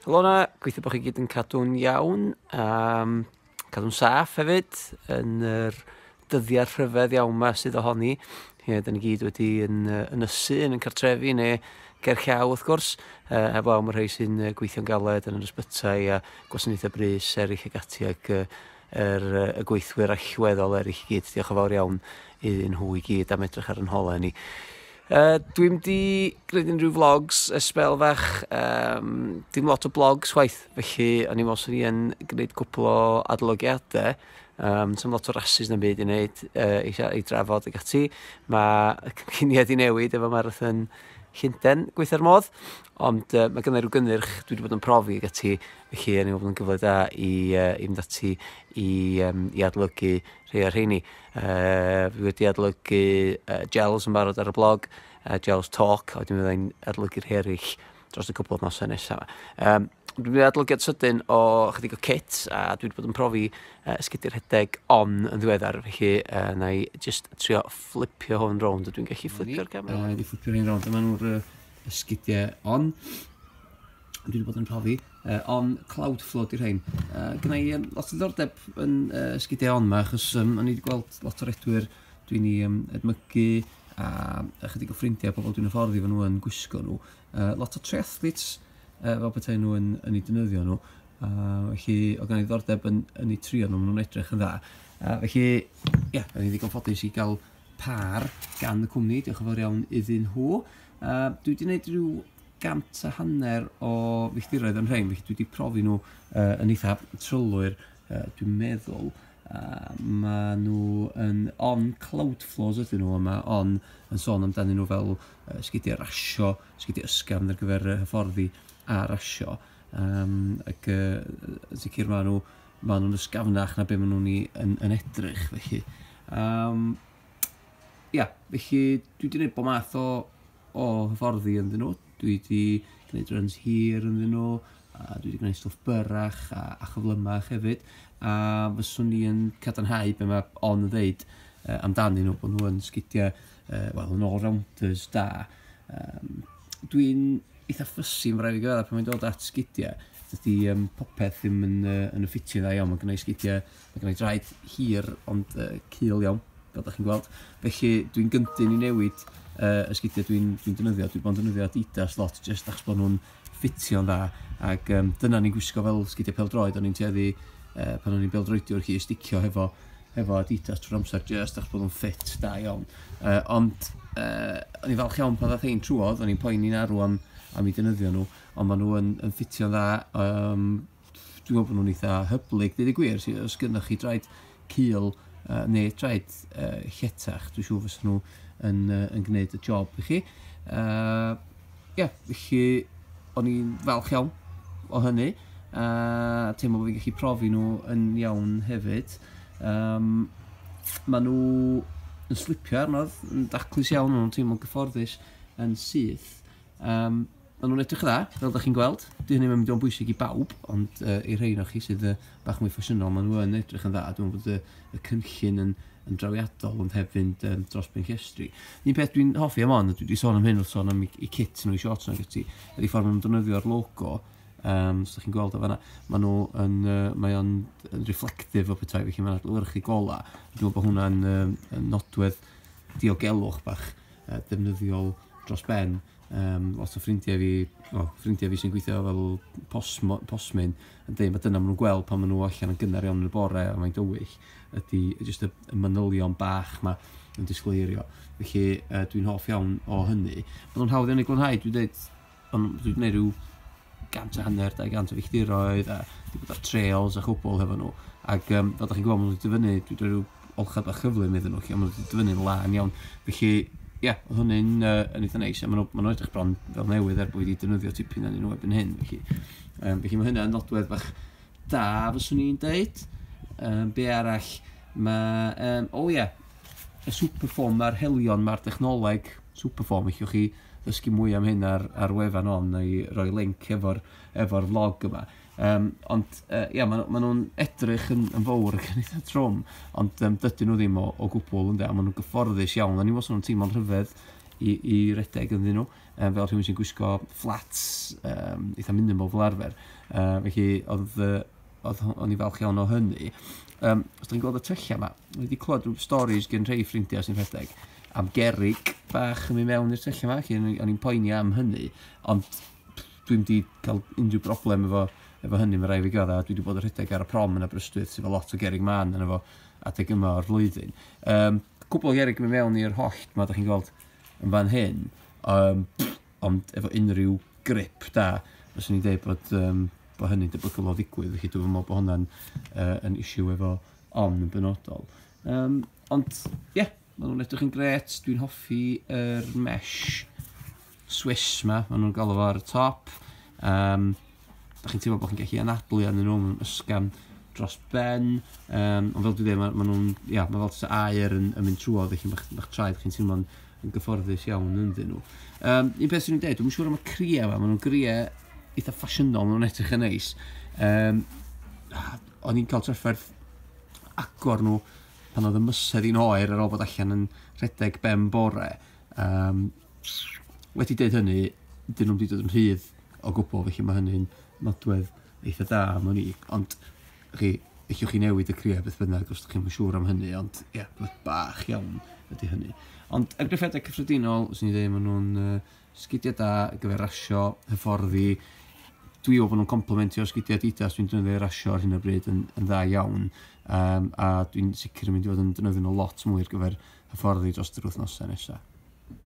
Helo 'na, gobeithio bod chi gyd yn cadw'n iawn, cadw'n saff hefyd yn yr dyddiau rhyfedd iawn 'ma sydd ohoni. Ie, da ni gyd wedi yn ynysu yn ein cartrefi neu ger llaw wrth gwrs, heblaw am y rhai sy'n gweithio'n galed yn yr ysbytai a gwasanaethau brys eraill ac ati ac y gweithwyr allweddol eraill i gyd. Diolch yn fawr iawn iddyn nhw i gyd am edrych ar yn holau ni. Dwi'm di gwneud unrhyw vlogs ers sbel fach, dim lot o blogs chwaith, felly o'n i'n meddwl 'swn i yn gwneud cwpl o adolygiadau. Sdim lot o rasys na'm byd i wneud, i drafod ac ati. Mae y cynlluniau 'di newid efo Marathon Llundain, gweitha'r modd, ond mae gynna i ryw gynnyrch dwi wedi bod yn profi ac ati, felly o'n i'n meddwl bod yn gyfle da i fynd ati i adolygu rhai o'r rheini. Fi wedi adolygu gels yn barod ar y blog, Gels Talk, a wedyn fyddai'n adolygu rhai eraill dros y cwpl o wythnosau nesaf. Dwi'n mynd i adolygiad sydyn o chydig o kit, a dwi wedi bod yn profi esgidiau rhedeg On yn ddiweddar, felly na i just trio fflipio hwn rownd, ydw i'n gallu fflipio'r camera? Wedi fflipio'r un rownd, dyma nhw'r esgidiau On. Dwi wedi bod yn profi. On Cloudflow 'di rhain. Gynna i lot o ddiddordeb yn esgidiau On 'ma, achos o'n i wedi gweld lot o redwyr dwi'n i edmygu a ychydig o ffrindiau, pobl dwi'n hyfforddi efo nhw yn gwisgo nhw. Lot o triathletes fel petai nhw yn eu defnyddio nhw. Felly oedd gynna i ddiddordeb yn eu trio nhw, maen nhw'n edrych yn dda. Felly, ie, yeah, o'n i ddigon ffodus i gael par gan y cwmni, diolch yn fawr iawn iddyn nhw. Dwi wedi gwneud rhyw 150 o filltiroedd yn rhain, felly dwi wedi profi nhw yn eitha trylwyr, dwi'n meddwl. Mae nhw yn On Cloudflows ydyn nhw, a mae On yn sôn amdanyn nhw fel sgidiau rasio, sgidiau ysgafn ar gyfer hyfforddi a rasio. Ac yn sicr maen nhw'n ysgafnach na be maen nhw'n yn edrych, felly. Ia, felly dwi wedi gwneud bob math o hyfforddi ynddyn nhw. Dwi wedi gwneud runs hir ynddyn nhw, a dwi wedi gwneud stwff byrrach a chyflymach hefyd. A fyswn i yn cadarnhau be mae On yn ddeud amdanyn nhw, bod nhw yn sgidiau, wel, yn all-rounders da. Dwi'n eitha fussy, mae'n rhaid i gyfadda, pan mae'n dod at sgidiau. Dydy popeth ddim yn y ffitio dda iawn. Mae gynna i sgidiau, mae gynna i draed hir ond cul iawn, fel da chi'n gweld. Felly dwi'n gyntyn i newid y sgidiau dwi'n defnyddio. Dwi'n bod yn defnyddio Adidas lot, jyst achos bod nhw'n ffitio'n dda. Ac dyna ni'n gwisgo fel sgidiau pêl-droed. O'n i'n tueddu, pan o'n i'n bêl-droediwr, chi sticio efo Adidas trwy'r amser, jyst achos bod nhw'n ffit da iawn. Ond o'n i'n falch iawn pan ddath ein trwodd, o'n i'n poeni'n arw am eu defnyddio nhw, ond maen nhw yn ffitio'n dda. Dwi'n meddwl bod nhw'n eitha hyblyg, dweud y gwir, so, os gynnwch chi draed cul neu traed lletach, dwi'n siŵr fysa nhw yn gwneud y job i chi. Yeah, felly o'n i'n falch iawn o hynny. A teimlo bod fi'n gallu profi nhw yn iawn hefyd. Maen nhw yn slipio arnodd, yn daclus iawn, maen nhw'n teimlo'n gyfforddus yn syth. Maen nhw'n edrych dda, fel da chi'n gweld. Di hynny ddim yn mynd i bwysig i bawb, ond i'r rhain o chi sydd bach mwy ffasiynol, maen nhw yn edrych yn dda. Dwi'n meddwl bod y cynllun yn drawiadol, ond heb fynd dros ben llestri. Un peth dwi'n hoffi am On, a dwi wedi sôn am hyn wrth sôn am i kit nhw, i shorts nhw, ac ati, ydy ffordd maen nhw'n defnyddio'r logo. Os ydych chi'n gweld o fanna, maen nhw yn, mae o'n yn reflective o petai, felly mae'n adlewyrchu gola. Dwi'n meddwl bod hwnna'n yn nodwedd diogelwch bach defnyddiol dros ben. Lot o ffrindiau fi, oh, ffrindiau fi sy'n gweithio fel postman yn dweud mae dyna maen nhw'n gweld pan maen nhw allan yn gynnar iawn yn y bore a mae'n dywyll, ydy jyst y manylion bach ma yn disgleirio. Felly dwi'n hoff iawn o hynny. Maen nhw'n hawdd iawn i glanhau, dwi'n dweud, ond dwi'n gwneud rhyw 150, 200 o filltiroedd a wedi bod ar trails a chwbl hefo nhw. Ac fel da chi'n gweld, maen nhw wedi dyfynnu, dwi wedi rhyw olchad bach chyflym iddyn nhw, lle maen nhw wedi dyfynnu'n lân iawn. Felly, ie, yeah, oedd hynny'n yn eitha neis, a maen nhw edrych bron fel newydd er bod wedi defnyddio tipyn arnyn nhw erbyn hyn. Felly mae hynny'n nodwedd bach da, fyswn i'n deud. Be arall? Mae, o ie, y Superform, mae'r helion, mae'r dechnoleg Superform, allwch chi ddysgu mwy am hyn ar wefan On, neu roi link efo vlog yma. Ond ia, ma nhw'n edrych yn fawr ac yn eitha trwm, ond dydyn nhw ddim o gwbl, ynde, a maen nhw'n gyfforddus iawn. O'n i'n meddwl nhw'n teimlo'n rhyfedd i redeg ynddyn nhw. Fel rhywun sy'n gwisgo flats eitha minimal fel arfer. Felly o'n i falch iawn o hynny. Os da chi'n gweld y tyllau yma, wedi clywed rhyw stories gen rhai ffrindiau sy'n rhedeg am gerig bach yn mynd mewn i'r tyllau yma, felly o'n i'n poeni am hynny, ond dwi'n wedi cael unrhyw broblem efo hynny, mae rai fi gyda. Dwi wedi bod yn rhedeg ar y prom yn Aberystwyth sydd efo lot o gerig man yn efo adeg yma o'r flwyddyn. Cwbl o gerig yn mynd mewn i'r hollt ma, da chi'n gweld yn fan hyn, ond efo unrhyw grip da, fyswn i'n dweud bod hynny'n debygol o ddigwydd, felly dwi'n meddwl bod hwnna'n yn issue efo On yn benodol. Ond, ie, yeah, maen nhw'n edrych yn gret. Dwi'n hoffi yr mesh Swiss ma, maen nhw'n galw fo ar y top. Da chi'n teimlo bod chi'n gallu anadlu arnyn nhw, maen nhw'n ysgafn dros ben. Ond fel dwi'n dweud, ma nhw'n, ia, mae fel tysa aer yn mynd trwodd, felly ma'ch traed chi'n teimlo'n yn gyfforddus iawn ynddyn nhw. Un peth sy'n i'n dweud, dwi'n siŵr am y cria yma, maen nhw'n gria eitha ffasiynol, maen nhw'n edrych yn neis. O'n i'n cael trafferth agor nhw pan oedd y mysedd i'n oer ar ôl bod allan yn rhedeg ben bore. Wedi dweud hynny, dyn nhw'n wedi dod yn rhydd o gwbl, felly mae hynny'n nodwedd eitha da am wn i. Ond chi, allwch chi newid y cria beth bynnag os ydych chi'n siŵr am hynny, ond ie, yeah, bach iawn ydy hynny. Ond argraffiadau cyffredinol, os ni'n dweud, maen nhw'n sgidiau da ar gyfer rasio, hyfforddi. Dwi o bod nhw'n complementio sgidiau Adidas dwi'n defnyddio rasio ar hyn o bryd yn dda iawn. A dwi'n sicr yn mynd i fod yn defnyddio nhw lot mwy ar gyfer hyfforddi dros yr wythnosau nesaf.